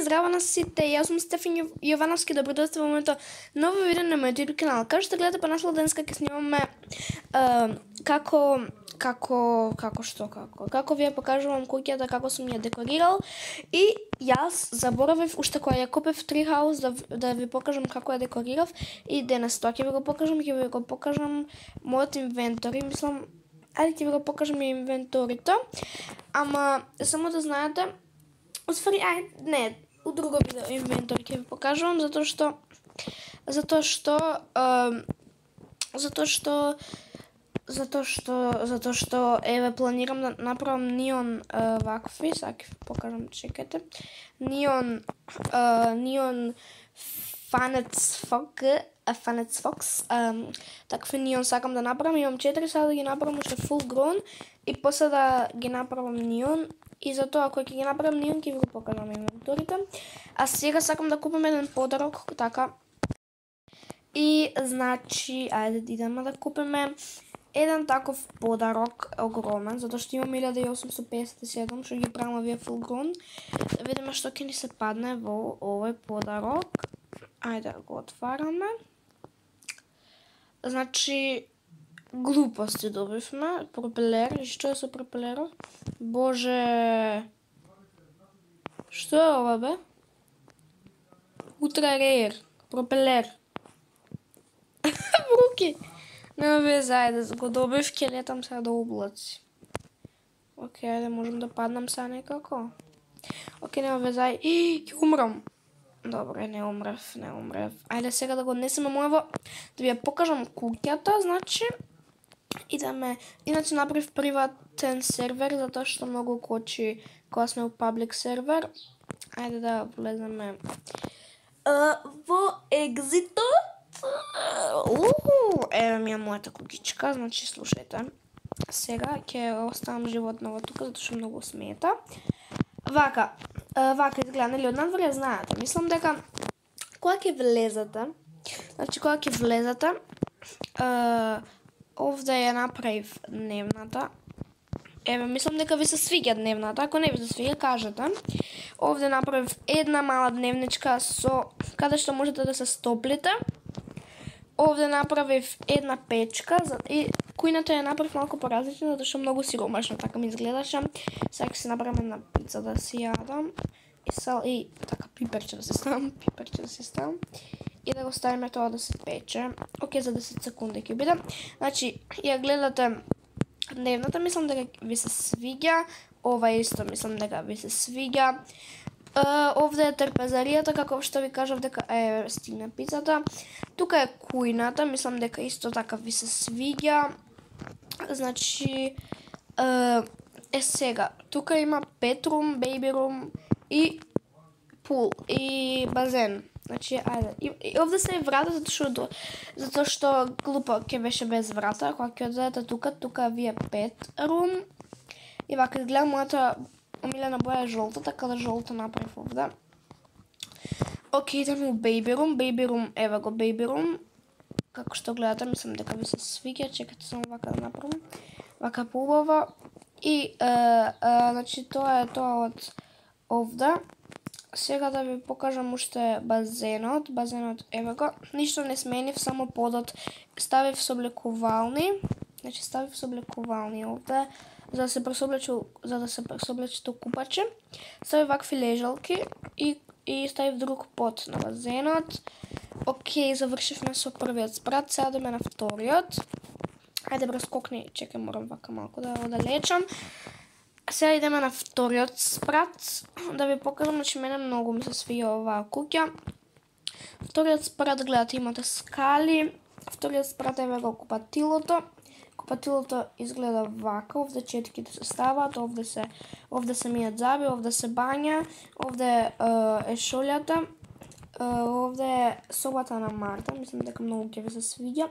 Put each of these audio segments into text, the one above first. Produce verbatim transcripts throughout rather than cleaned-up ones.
здраво на сите, јас сум Стефан Јовановски, добродојстве во моето ново видео на мојот YouTube канал. Како што гледате, понасло денеска ќе снимаме uh, како како како што како како ви ја покажувам куќата, како сум ја декорирал, и јас заборавив уште кога ја купив Treehouse да да ви покажам како ја декорирав, и денес тоа ќе ви го покажам, ќе ви го покажам мојот инвентори, мислам, ајде ќе ви го покажам и инвенторито, ама само да знаете, усвари, ајде, не, у друго видео инвентори ќе ви покажувам, затоа што затоа што uh, затоа што Затоа што, затоа што, еве, планирам да направам неон uh, вакви, сега ќе покажам, чекате, неон, uh, неон Фанец Фок, Фанец Фокс, um, такви неон сакам да направам, имам четири, сега да ги направам уште full grown, и после да ги направам неон, и затоа кога ќе ги направам неон, ќе ви го покажам инвенторите. А сега сакам да купам еден подарок, така, и, значи, ајде да идеме да купиме еден таков подарок огромен, затоа што имам илјада осумстотини песет и седум, што ги правам овие full grown. Да видиме што ќе ни се падне во овој подарок. Ајде го отвараме. Значи, глупости добивме. Пропелер, и што е со пропелерот? Боже! Што е ова, бе? Утра рейер. Пропелер. Руки! Нема везе, ајде, го добив, ќе летам сега до облаци. Океј, ајде, можем да паднам сега некако. Океј, нема везе, ајде, ќе умрам. Добре, не умрев, не умрев. Ајде сега да го однесеме моево, да ви ја покажам куќата, значи, идеме, иначе направив приватен сервер, затоа што многу кочи кога сме у паблик сервер. Ајде да влеземе uh, во екзитот. Уху, еве ми е мојата куќичка, значи слушајте. Сега ќе оставам животново тука, затоа што многу смета. Вака, вака изгледа, нели од надвор ја знаете. Мислам дека кога ќе влезете, значи кога ќе влезете, овде ја направив дневната. Еве, мислам дека ви се свиѓа дневната, ако не ви се свиѓа, кажете. Овде направив една мала дневничка со каде што можете да се стоплите. Овде направив една печка и кујната ја направив малку поразлична, затоа што многу сиромашно така ми изгледаше. Сега ќе се направам една пица да си јадам и сал и така пиперче да се ставам, пиперче да се ставам и да го ставиме тоа да се пече. Океј, за десет секунди ќе биде. Значи, ја гледате дневната, мислам дека ви се свиѓа. Ова исто мислам дека ви се свиѓа. Uh, овде е трпезаријата, како што ви кажав дека е стигна пицата. Тука е кујната, мислам дека исто така ви се свиѓа. Значи, uh, е сега, тука има петрум, бейби рум и пул и базен. Значи, ајде. И, и овде се е врата, затоа што затоа што глупо ќе беше без врата. Кога ќе одидете тука, тука ви е пет рум. И вака изгледа мојата омилена боја е жолта, така да жолта направив овде. Океј, идеме у Baby Room. Baby Room, еве го Baby Room. Како што гледате, мислам дека ви се свиѓа. Чекате само вака да направам. Вака поубава. И, е, е, значи, тоа е тоа од овде. Сега да ви покажам уште базенот. Базенот, еве го. Ништо не сменив, само подот ставив со облекувални. Значи, ставив со облекувални овде, за да се пресоблече, за да се пресоблече тоа купаче. Ставив вакви лежалки и и ставив друг под на базенот. Океј, завршивме со првиот спрат, сега идеме на вториот. Ајде прескокни, чекај, морам вака малку да одалечам. Сега идеме на вториот спрат, да ви покажам, значи мене многу ми се свија оваа куќа. Вториот спрат, гледате, имате скали. Вториот спрат е го купатилото. Купатилото изгледа вака, овде четките се стават, овде се овде се мијат заби, овде се бања, овде е, е шолјата, е, овде е собата на Марта, мислам дека многу ќе ви се свиѓа.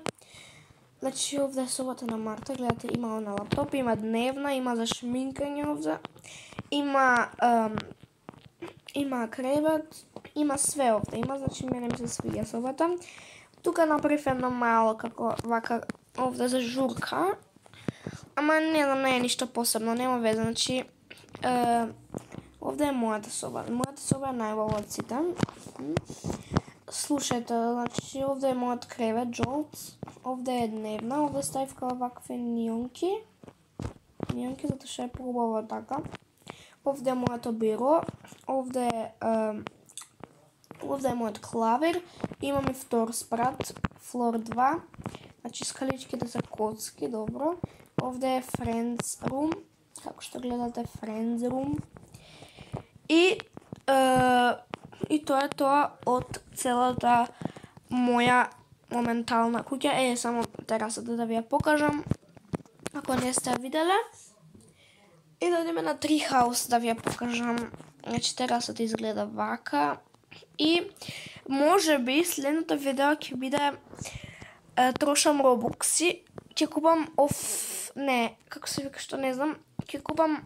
Значи овде е собата на Марта, гледате, има на лаптоп, има дневна, има за шминкање овде, има ем, има кревет, има све овде, има, значи мене ми се свиѓа собата. Тука направив едно мало како вака овде за журка. Ама не знам, не е ништо посебно, нема веза, значи е, Овде е мојата соба. Мојата соба е најубава од сите. Слушајте, значи овде е мојот кревет, жолт. Овде е дневна, овде ставив као вакви нионки. Нионки, затоа што е поубаво така. Овде е мојото биро. Овде е, е овде е мојот клавир. Имам и втор спрат, флор два. Значи скаличките се коцки, добро. Овде е Friends Room. Како што гледате, Friends Room. И, е, и тоа е тоа од целата моја моментална куќа. Е, само терасата да ви ја покажам, ако не сте ја виделе. И да одиме на Treehouse да ви ја покажам. Значи терасата изгледа вака. И може би следното видео ќе биде е, трошам робукси. Ќе купам оф... Не, како се вика што не знам. Ќе купам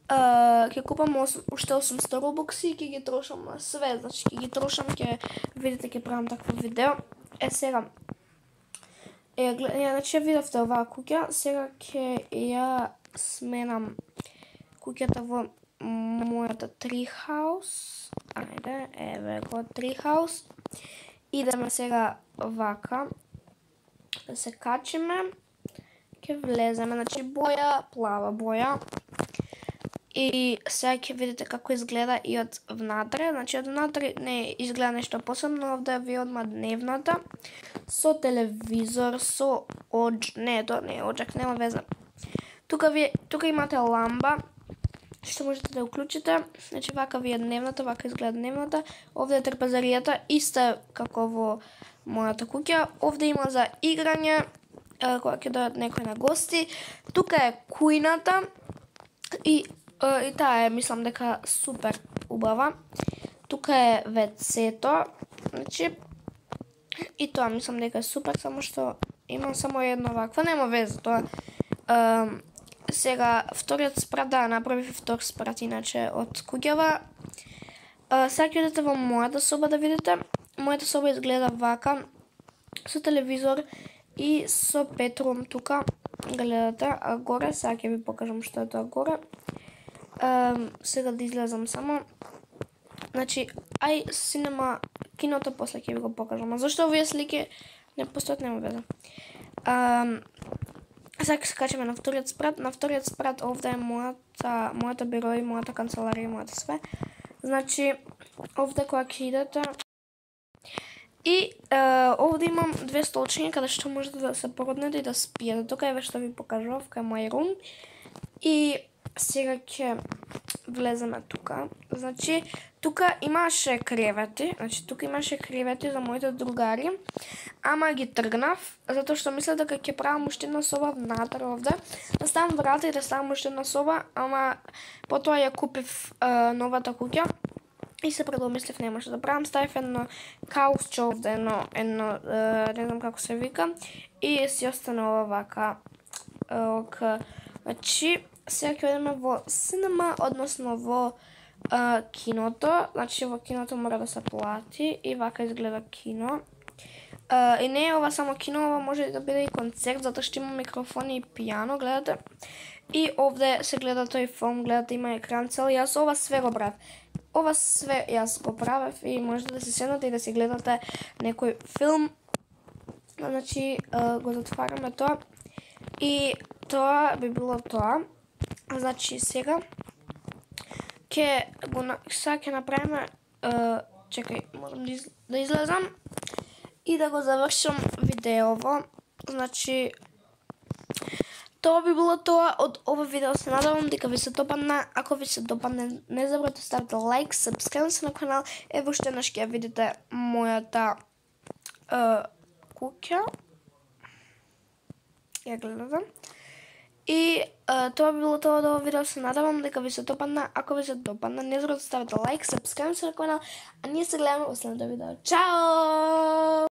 Uh, ќе купам уште осумсто робокси и ќе ги трошам на све, значи ќе ги трошам, ќе видите, ќе правам такво видео. Е, сега, е, глед, ја, значи ја видовте оваа куќа, сега ќе ја сменам куќата во мојата Treehouse. Ајде, еве го Treehouse. Идеме сега вака, да се качиме, ќе влеземе, значи боја, плава боја. И сега ќе видите како изгледа и од внатре, значи од внатре не изгледа нешто посебно, овде ви одма дневната, со телевизор, со одж, не, тоа не е оджак, нема веза. Тука, ви, тука имате ламба, што можете да уклучите, значи вака ви е дневната, вака изгледа дневната, овде е трпезаријата, иста како во мојата куќа, овде има за играње, кога ќе дојдат некои на гости, тука е кујната и И таа е, мислам дека супер убава. Тука е вецето, значи, и тоа мислам дека е супер, само што имам само едно вакво, нема веза тоа. Uh, сега, вториот спрат, да, направив втор спрат, иначе, од куќава. Uh, сега ќе идете во мојата соба да видите. Мојата соба изгледа вака, со телевизор и со петрум тука, гледате, а горе, сега ќе ви покажам што е тоа горе. Uh, сега да излезам само. Значи, ај синема киното после ќе ви го покажам. А зашто овие слики не постојат, нема веза. Uh, сега ќе се качиме на вториот спрат. На вториот спрат овде е мојата, мојата биро и мојата канцеларија и мојата све. Значи, овде кога ќе идете. И uh, овде имам две столчиња каде што можете да се породнете и да спиете. Тука е ве што ви покажав, кај мој рум. И сега ќе влеземе тука. Значи, тука имаше кревети, значи тука имаше кревети за моите другари, ама ги тргнав, затоа што мислев дека ќе правам уште една соба внатре овде. Да ставам врата и да ставам уште една соба, ама потоа ја купив uh, новата куќа и се предомислив немаше да правам. Ставив едно каусче овде, едно, едно uh, не знам како се вика, и си остане ова вака. Uh, ок. Значи, сега ќе одиме во синема, односно во а, киното. Значи, во киното мора да се плати и вака изгледа кино. А, и не е ова само кино, ова може да биде и концерт, затоа што има микрофони и пијано, гледате. И овде се гледа тој филм, гледате, има екран цел. Јас ова све го правев. Ова све јас го правев и можете да се седнете и да си гледате некој филм. Значи, а, го затвараме тоа. И тоа би било тоа. Значи сега ќе го сега ќе направиме uh, чекај, морам да, из, да излезам и да го завршам видеово. Значи тоа би било тоа од ова видео. Се надевам дека ви се допадна. Ако ви се допадне, не забравете да ставите лайк, сабскрајб се на канал. Ево уште еднаш ќе видите мојата uh, куќа. Ја гледате. И uh, тоа би било тоа од ова видео. Се надевам дека ви се допадна. Ако ви се допадна, не забравете да ставите лайк, сабскрајб се на канал. А ние се гледаме во следното видео. Чао!